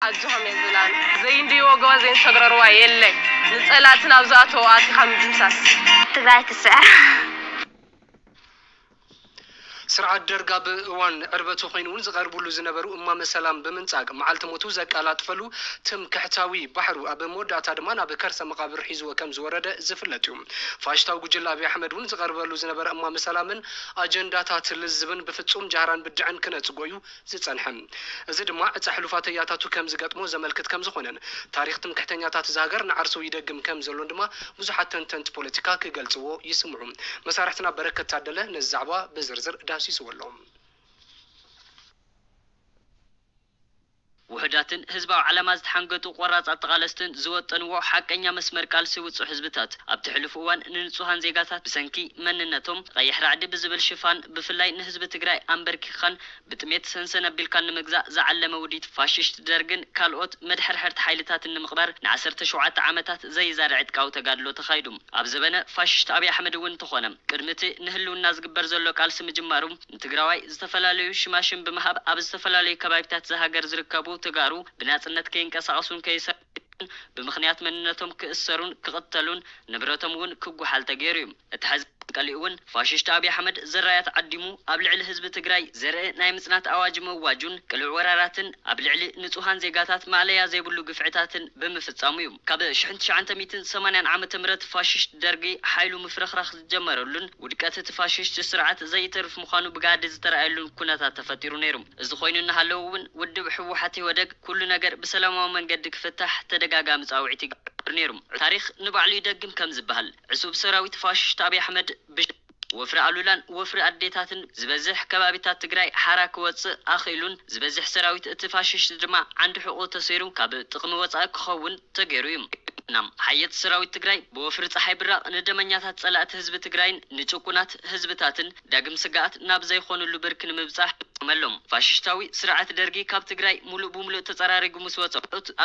ኣጆኹም የዝላን። ዘይንድይዎ ጎቦ ዘይንሰግረርዋ የለን። ንጸላእቲ ናብ ዝኣተዎ ኣቲኻ ምድምሳስ። ትግራይ ትስዕር። ስርዓት ደርግ ኣብ እዋን ዕርበቱ ኮይኑ እውን ዝቐርብሉ ዝነበሩ እማመ ሰላም ብምንጻግ፣ መዓልቲ ሞቱ ዘቀላጥፈሉ ትምክሕታዊ ባሕሩ፣ ኣብ መወዳእታ ድማ ናብ ከርሰ መቓብር ሒዝዎ ከም ዝወረደ ዝፍለጥ እዩ። ፋሽስታዊ ጉጅለ ኣብይ ኣሕመድ እውን ዝቐርበሉ ዝነበረ እማመ ሰላምን ኣጀንዳታት ልዝብን ብፍጹም ጃህራን ብድዐን ክነጽጎ እዩ ዝጸንሐ። እዚ ድማ ዕጸ ሕሉፋት ተያታቱ ከም ዝገጥሞ ዘመልክት ከም ዝኾነን፣ ታሪኽ ትምክሕተኛታት እዛ ሃገር ንዓርሱ ይደግም ከም ዘሎን ድማ ብዙሓት ተንተንቲ ፖለቲካ ክገልጽዎ ይስምዑ። መሳርሕትና በረከት ታደለ ነዚ ዛዕባ ብዝርዝር ዳህሲስዎ ኣሎ። ውሑዳትን ህዝባዊ ዓላማ ዝተሓንገጡ ቆራጻት ተቓለስትን ዝወጠንዎ ሓቀኛ መስመር ቃልሲ ውጹዕ ህዝብታት፣ ኣብቲ ሕሉፍ እዋን ንንጹሃን ዜጋታት ብሰንኪ መንነቶም ቀይሕ ራዕዲ ብዝብል ሽፋን ብፍላይ ንህዝቢ ትግራይ ኣምበርኪኽኻን ብጥሜት ሰንሰን ኣቢልካን ንምግዛእ ዝዓለመ ውዲት ፋሽስት ደርግን ካልኦት መድሐርሐርቲ ሓይልታትን ንምቕባር ንዓሰርተ ሸውዓተ ዓመታት ዘይዛሪ ዕጥቃዊ ተጋድሎ ተኻይዱ። ኣብ ዘበነ ፋሽስት ኣብይ ኣሕመድ እውን እንተኾነ ቅድሚ እቲ ንህልውና ዝግበር ዘሎ ቃልሲ ምጅማሩ ንትግራዋይ ዝተፈላለዩ ሽማሽም ብምሃብ ኣብ ዝተፈላለዩ ከባቢታት እዛ ሃገር ዝርከቡ ተጋሩ ብናፅነት ከይንቀሳቐሱን ከይሰርሑን ብምኽንያት መንነቶም ክእሰሩን ክቕተሉን ንብረቶም እውን ክጉሓል ተገይሩ እዩ። እቲ ሐዚ ቀሊኡ እውን ፋሽስት ኣብይ ኣሕመድ ዘራያት ዓዲሙ ኣብ ልዕሊ ህዝቢ ትግራይ ዘርኢ ናይ ምፅናት ኣዋጅ ምእዋጁን ቅሉዕ ወራራትን ኣብ ልዕሊ ንፁሃን ዜጋታት ማእለያ ዘይብሉ ግፍዕታትን ብምፍፃሙ እዩ። ካብ ሽሕን ትሽዓተ ሚእትን ሰማንያን ዓመተ ምህረት ፋሽስት ደርጊ ሓይሉ ምፍርኽራኽ ዝጀመረሉን ውድቀት እቲ ፋሽስት ስርዓት ዘይተርፍ ምዃኑ ብጋህዲ ዝተረኣየሉን ኩነታት ተፈጢሩ ነይሩ። እዚ ኮይኑ እናሃለወ እውን ውድብ ህወሓት ኢህወደግ ኩሉ ነገር ብሰላማዊ መንገዲ ክፍታሕ ተደጋጋሚ ፃውዒት ይገብር ነይሩ። ታሪኽ ንባዕሉ ይደግም ከም ዝበሃል ዕሱብ ሰራዊት ፋሽስት ኣብይ ኣሕመድ ብሽ ወፍሪ ኣሉላን ወፍሪ ኣዴታትን ዝበዝሕ ከባቢታት ትግራይ ሓራ ክወፅእ ኣኽኢሉን ዝበዝሕ ሰራዊት እቲ ፋሽስት ድማ ዓንዲ ሕቆ ተሰይሩ ካብ ጥቕሚ ወፃኢ ክኸውን ተገይሩ እዩ። ሓየት ሰራዊት ትግራይ ብወፍሪ ፀሓይ ብራቕ ንደመኛታት ፀላእቲ ህዝቢ ትግራይን ንጭቁናት ህዝብታትን ዳግም ስግኣት ናብ ዘይኾኑሉ ብርኪ ንምብፃሕ ይጥቀመሎም። ፋሽስታዊ ስርዓት ደርጊ ካብ ትግራይ ሙሉእ ብሙሉእ ተፀራሪጉ ምስ ወፀ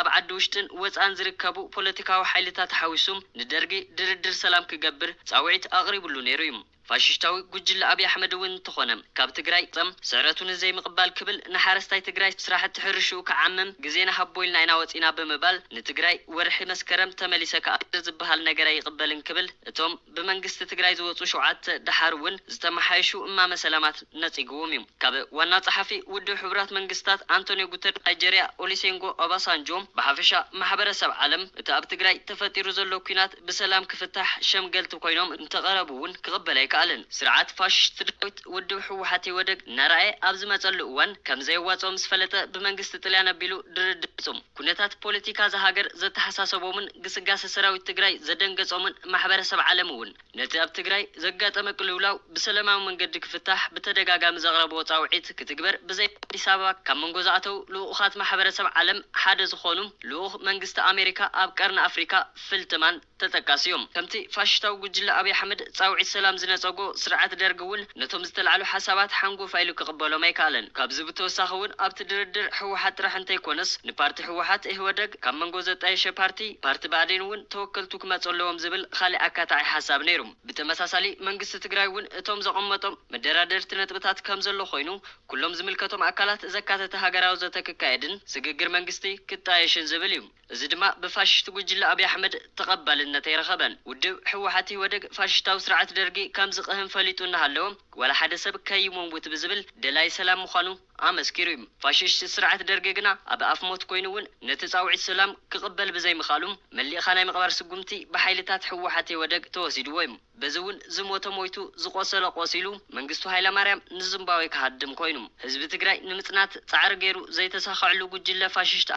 ኣብ ዓዲ ውሽጥን ወፃእን ዝርከቡ ፖለቲካዊ ሓይልታት ሓዊሱ ንደርጊ ድርድር ሰላም ክገብር ፃውዒት ኣቕሪቡሉ ነይሩ እዩ። ፋሽስታዊ ጉጅለ ኣብይ ኣሕመድ እውን እንተኾነ ካብ ትግራይ ም ስዕረቱ ንዘይምቕባል ክብል ንሓረስታይ ትግራይ ስራሕቲ ሕርሽኡ ክዓምም ግዜ ንሃቦ ኢልና ኢና ወፂና ብምባል ንትግራይ ወርሒ መስከረም ተመሊሰ ክኣቱ ዝበሃል ነገር ኣይቕበልን ክብል እቶም ብመንግስቲ ትግራይ ዝወፁ ሸውዓተ ደሓር እውን ዝተመሓየሹ እማመ ሰላማት ነፂግዎም እዩ። ካብ ዋና ጸሓፊ ውድብ ሕቡራት መንግስታት ኣንቶኒዮ ጉተረስ፣ ናይጀርያ ኦሊሴንጎ ኦባሳንጆ፣ ብሓፈሻ ማሕበረሰብ ዓለም እቲ ኣብ ትግራይ ተፈጢሩ ዘሎ ኲናት ብሰላም ክፍታሕ ሸምገልቲ ኮይኖም እንተቐረቡ እውን ክቕበል ኣይከኣለን። ስርዓት ፋሽስት ዳዊት ውድብ ህወሓት ኢህወደግ እናረኣየ ኣብ ዝመጸሉ እዋን ከም ዘየዋጽኦ ምስ ፈለጠ ብመንግስቲ ጥልያን ኣቢሉ ድርድር ገይሩ። ኩነታት ፖለቲካ እዛ ሃገር ዘተሓሳሰቦምን ግስጋሰ ሰራዊት ትግራይ ዘደንገጾምን ማሕበረሰብ ዓለም እውን ነቲ ኣብ ትግራይ ዘጋጠመ ቅልውላው ብሰለማዊ መንገዲ ክፍታሕ ብተደጋጋሚ ዘቕረብዎ ጻውዒት ክትግበር ብዘይ ኣዲስ ኣበባ ካብ መንጎ ዝኣተው ልኡኻት ማሕበረሰብ ዓለም ሓደ ዝኾኑ ልኡኽ መንግስቲ ኣሜሪካ ኣብ ቀርኒ ኣፍሪካ ፊልትማን ተጠቃሲ እዮም። ከምቲ ፋሽስታዊ ጉጅለ ኣብይ ኣሕመድ ጻውዒት ሰላም ዝነጸጎ ስርዓት ደርጊ እውን ነቶም ዝተላዕሉ ሓሳባት ሓንጎፋይ ኢሉ ክቕበሎም ኣይከኣለን። ካብዚ ብተወሳኺ እውን ኣብቲ ድርድር ህወሓት ጥራሕ እንተይኮነስ ንፓርቲ ህወሓት ኢህወደግ ካብ መንጎ ዘጣየሸ ፓርቲ ፓርቲ ብኣዴን እውን ተወከልቱ ክመፁ ኣለዎም ዝብል ካሊእ ኣካታዒ ሓሳብ ነይሩ። ብተመሳሳሊ መንግስቲ ትግራይ እውን እቶም ዘቐመጦም መደራደርቲ ነጥብታት ከም ዘሎ ኮይኑ ኩሎም ዝምልከቶም ኣካላት ዘካተተ ሃገራዊ ዘተ ክካየድን ስግግር መንግስቲ ክጣየሽን ዝብል እዩ። እዚ ድማ ብፋሽስት ጉጅለ ኣብይ ኣሕመድ ተቐባልነት ኣይረኸበን። ውድብ ህወሓት ኢህወደግ ፋሽስታዊ ስርዓት ደርጊ ከም ዝቕህም ፈሊጡ እናሃለወ ዋላ ሓደ ሰብ ከይመውት ብዝብል ደላይ ሰላም ምዃኑ ኣመስኪሩ እዩ። ፋሽስት ስርዓት ደርጊ ግና ኣብ ኣፍ ሞት ኮይኑ እውን ነቲ ጻውዒት ሰላም ክቕበል ብዘይምኽኣሉ መሊእኻ ናይ ምቕባር ስጉምቲ ብሓይልታት ህወሓት ኢህወደግ ተወሲድዎ እዩ። በዚ እውን ዝሞተ ሞይቱ ዝቖሰለ ቆሲሉ መንግስቱ ሃይለማርያም ንዝምባዌ ክሃድም ኮይኑ ህዝቢ ትግራይ ንምፅናት ፃዕሪ ገይሩ ዘይተሳኸዐሉ ጉጅለ ፋሽስት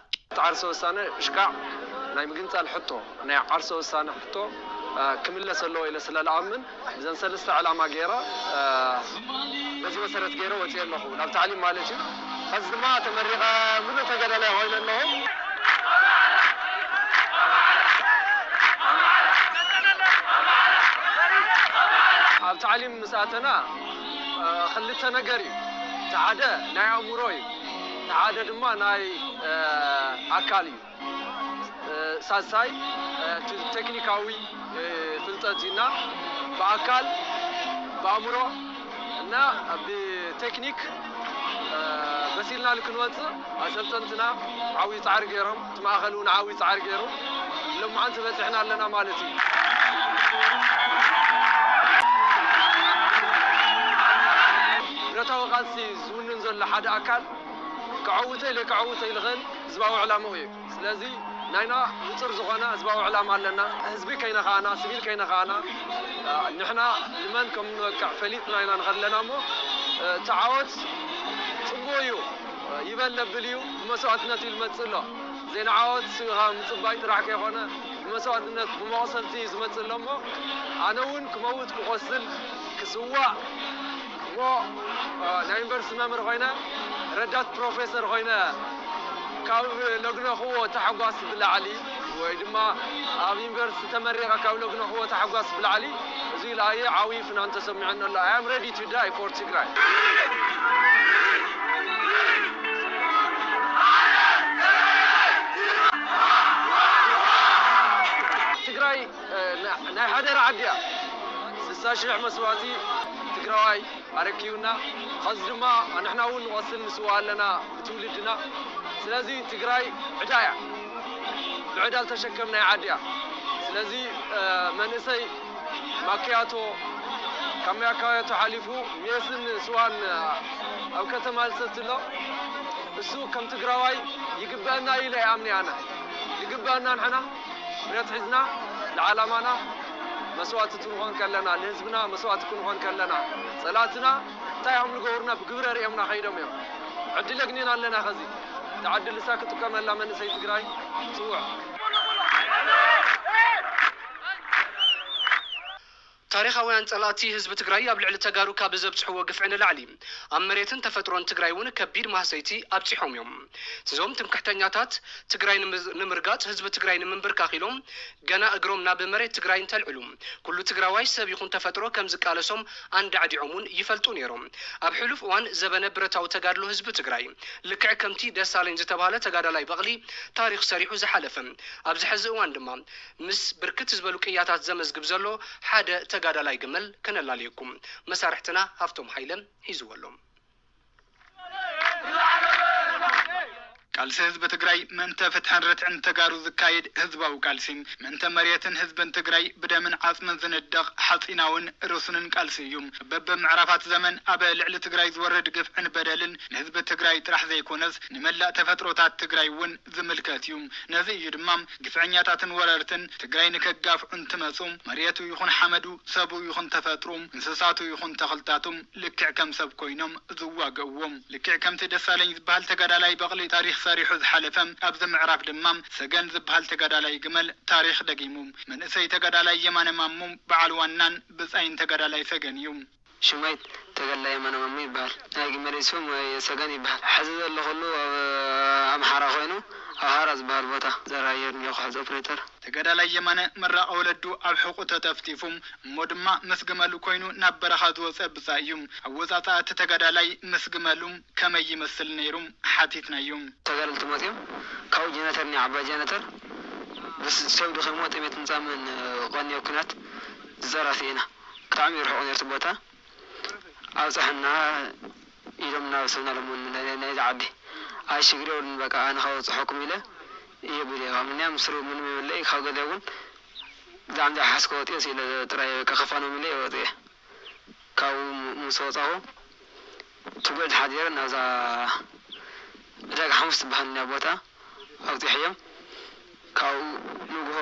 ዓርሰ ውሳነ እሽካዕ ናይ ምግንፃል ሕቶ ናይ ዓርሰ ውሳነ ሕቶ ክምለስ ኣለዎ ኢለ ስለ ልኣምን ብዘን ሰለስተ ዕላማ ገይረ በዚ መሰረት ገይረ ወፅየ ኣለኹ ናብ ታዕሊም ማለት እዩ። ሕዚ ድማ ተመሪቐ ሙሉእ ተጋዳላይ ኮይነ ኣለኹ። ኣብ ታዕሊም ምስ ኣተና ክልተ ነገር እዩ። እቲ ሓደ ናይ ኣእምሮ እዩ፣ እቲ ሓደ ድማ ናይ ኣካል እዩ። ሳልሳይ እቲ ቴክኒካዊ ፍልጠት እዩ እና ብኣካል ብኣእምሮ እና ብቴክኒክ መሲልና ክንወፅእ ኣሰልጠንትና ዓብዪ ፃዕሪ ገይሮም፣ እቲ ማእኸል እውን ዓብዪ ፃዕሪ ገይሩ። ሎማዓንቲ በፂሕና ኣለና ማለት እዩ። ብረታዊ ቃልሲ ዝውንን ዘሎ ሓደ ኣካል ክዕውተይ ለክዕውተይ ዝኽእል ህዝባዊ ዕላምኡ እዩ። ስለዚ ናይና ንጹር ዝኾነ ህዝባዊ ዕላማ ኣለና። ህዝቢ ከይነኻእና፣ ሲቪል ከይነኻእና፣ ንሕና ንመን ከም ንበቅዕ ፈሊጥና ኢና ንኸድ ኣለና እሞ፣ እቲ ዓወት ጽቡቕ እዩ፣ ይበል ነብል እዩ። ብመስዋእትነት እዩ ዝመጽእ ኣሎ። ዜና ዓወት ካብ ምጽባይ ጥራሕ ከይኮነ፣ ብመስዋእትነት፣ ብመቑሰልቲ እዩ ዝመጽእ ኣሎ እሞ፣ ኣነ እውን ክመውት ክቖስል ክስዋእ እሞ፣ እ፣ ናይ ዩኒቨርሲቲ መምህር ኮይነ፣ ረዳት ፕሮፌሰር ኮይነ ካብ ለግነኽዎ ታሕጓስ ብላዕሊ፣ ወይ ድማ ኣብ ዩኒቨርሲቲ ተመሪቐ ካብ ለግነኽዎ ታሕጓስ ብላዕሊ፣ እዚ ኢልኣየ ዓብዪ ፍናን ተሰሚዑኒ ኣሎ። I am ready to die for ትግራይ። ትግራይ፣ እ፣ ና-፣ ናይ ሓደራ ዓዲ እያ። ስሳ ሽሕ መስዋእቲ ትግራዋይ ኣረኪቡና። ኸዚ ድማ ንሕና እውን ንቐስን ንስዋእ ኣለና ብትውልድና። ስለዚ ትግራይ ዕዳ እያ። ብዕዳ ዝተሸከምናያ ዓዲ እያ። ስለዚ፣ እ፣ መንእሰይ ማክያቶ፣ ካብ ማክያቶ ሓሊፉ ሜስን ስዋን ኣብ ከተማ ዝሰቲ ኣሎ። እሱ ከም ትግራዋይ ይግበአና ኢለ ይኣምን ኣነ። ይግበአና ንሕና ብረት ሒዝና ንዓላማና መስዋእቲ ክንኾን ከለና፣ ንህዝብና መስዋእቲ ክንኾን ከለና፣ ጸላእትና እንታይ እዮም ዝገብሩና ብግብረ ርእዮምና ከይዶም እዮም። ዕድል ኣግኒና ኣለና። ኸዚ እቲ ዕድል እሳ ክጥቀመላ መንእሰይ ትግራይ ጽውዕ። ታሪኻውያን ጸላእቲ ህዝቢ ትግራይ ኣብ ልዕሊ ተጋሩ ካብ ዘብጽሕዎ ግፍዒ ንላዕሊ፣ ኣብ መሬትን ተፈጥሮን ትግራይ እውን ከቢድ ማህሰይቲ ኣብጺሖም እዮም። እዞም ትምክሕተኛታት ትግራይ ንምዝ-፣ ንምርጋጽ፣ ህዝቢ ትግራይ ንምንብርካኽ ኢሎም ገና እግሮም ናብ መሬት ትግራይ እንተልዕሉ፣ ኩሉ ትግራዋይ ሰብ ይኹን ተፈጥሮ ከም ዝቃለሶም ኣንዳዕዲዖም እውን ይፈልጡ ነይሮም። ኣብ ሕሉፍ እዋን ዘበነ ብረታዊ ተጋድሎ ህዝቢ ትግራይ፣ ልክዕ ከምቲ ደሳለኝ ዝተባህለ ተጋዳላይ በቕሊ ታሪኽ ሰሪሑ ዝሓለፈ፣ ኣብዚ ሕዚ እዋን ድማ ምስ ብርክት ዝበሉ ቅያታት ዘመዝግብ ዘሎ ሓደ ተጋዳላይ ግመል ከነላልየኩም መሳርሕትና ሃፍቶም ሃይለ ሒዝዎ ኣሎ። ቃልሲ ህዝቢ ትግራይ ምእንተ ፍትሕን ርትዕን ተጋሩ ዝካየድ ህዝባዊ ቃልሲ፣ ምእንተ መሬትን ህዝብን ትግራይ ብደምን ዓጽምን ዝንደቕ ሓጺናውን ርሱንን ቃልሲ እዩ። በብምዕራፋት ዘመን ኣብ ልዕሊ ትግራይ ዝወርድ ግፍዕን በደልን ንህዝቢ ትግራይ ጥራሕ ዘይኮነስ ንመላእ ተፈጥሮታት ትግራይ እውን ዝምልከት እዩ። ነዚ እዩ ድማ ግፍዐኛታትን ወረርትን ትግራይ ንከጋፍዑ እንትመፁ መሬቱ ይኹን ሓመዱ፣ ሰቡ ይኹን ተፈጥሮ፣ እንስሳቱ ይኹን ተኽልታቱ ልክዕ ከም ሰብ ኮይኖም ዝዋግእዎ። ልክዕ ከምቲ ደሳለኝ ዝበሃል ተጋዳላይ በቕሊ ታሪኽ ሰሪሑ ዝሓለፈ፣ ኣብዚ ምዕራፍ ድማ ሰገን ዝበሃል ተጋዳላይ ግመል ታሪኽ ደጊሙ። መንእሰይ ተጋዳላይ የማነ ማሞ በዓል ዋናን ብጻይን ተጋዳላይ ሰገን እዩ። ሽመይ ተጋዳላይ የማነ ማሞ ይበሃል። ናይ ግመለይ ስም ወይ ሰገን ይበሃል። ሕዚ ዘለኹሉ ኣብ ኣምሓራ ኮይኑ፣ ኣብ ሃራ ዝበሃል ቦታ ዘራየር እኒኦ ክሕዝ ኦፕሬተር። ተጋዳላይ የማነ ምራቕ ወለዱ ኣብ ሕቑ ተጠፍጢፉ፣ እሞ ድማ ምስ ግመሉ ኮይኑ ናብ በረኻ ዝወጸ ብጻይ እዩ። ኣወጻጽኣ እቲ ተጋዳላይ ምስ ግመሉ ከመይ ይመስል ነይሩ ሓቲትናዮ። ተጋደልቲ መጺኦም ካብኡ ጀነተር እኒኣ፣ ዓባይ ጀነተር፣ ብስ-፣ ሰብ ድኺምዎ ጥሜት ምጻምን፣ እ፣ ቀንዮ ኲናት ዝጸራፊ ኢና። ብጣዕሚ ይርሕቑ ነይሩ እቲ ቦታ። ኣብጽሐና ኢሎም እናበሰሉና ኣለምኡኒ ናይ-፣ ናይ-፣ ናይዛ ዓዲ። ኣይ ሽግር የብሉን በቃ ኣነ ከበጽሐኩም ኢለ እየ ቢለ። ምንያ ምስሩ ምንም የብለይ። ካብ ገለ እውን ብጣዕሚ ዘይሓስኮ ወጥየ ኢለ ጥራይ በቃ ከፋኖም ኢለ እየ ወጥየ። ካብኡ ምስ ወጻኹ ትጉዕቲ ሓዲረ ናብዛ ዕዳጋ ሓሙስ ትበሃል እኒኣ ቦታ ኣብጺሐዮም። ካብኡ ንግሆ